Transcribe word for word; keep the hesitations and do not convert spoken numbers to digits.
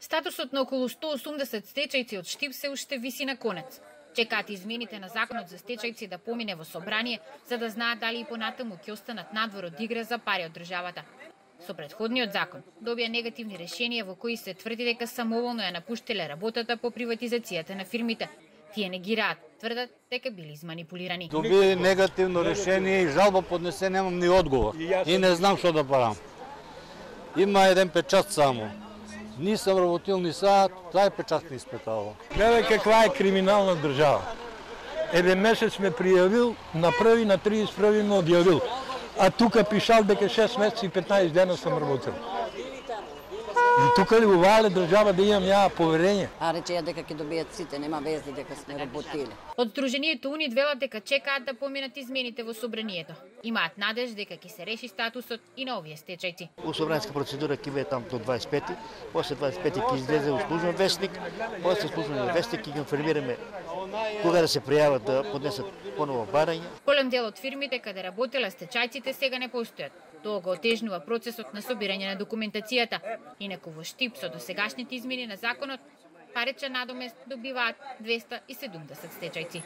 Статусот на околу сто осумдесет стечајци од Штип се уште виси на конец. Чекаат измените на законот за стечајци да помине во собрание, за да знаат дали и понатаму ќе останат надвор од игра за пари од државата. Со претходниот закон добија негативни решенија во кои се тврди дека самоволно ја напуштиле работата по приватизацијата на фирмите. Тие негираат, тврдат дека били изманипулирани. Доби негативно решение и жалба поднесе, немам ни одговор. И не знам што да правам. Има еден печат само. Нисам работил ни саат, тај печат не испекало. Гледај каква е криминална држава. Еден месец ме пријавил, на први, на тридесет и први ме одјавил. А тука пишал дека шест месеци и петнаесет дена сам работил. И тука ли увале држава да имам ја поверење? А речеја дека ќе добијат сите, нема везди дека сме работиле. Од Сдруженијето УНИД велат дека чекаат да поминат измените во собранието. Имаат надеж дека ќе се реши статусот и на овие стечајци. У собранска процедура ќе биде таму до дваесет и пети, после дваесет и пети ќе излезе во службен вестник, после службен вестник ќе ги информираме кога да се пријават да поднесат поново барање. Голем дел од фирмите каде работеле стечајците сега не постојат. Тоа го отежнува процесот на собирање на документацијата. Инаку во Штип со досегашните измени на законот, паричен надомест добиваат двеста и седумдесет стечајци.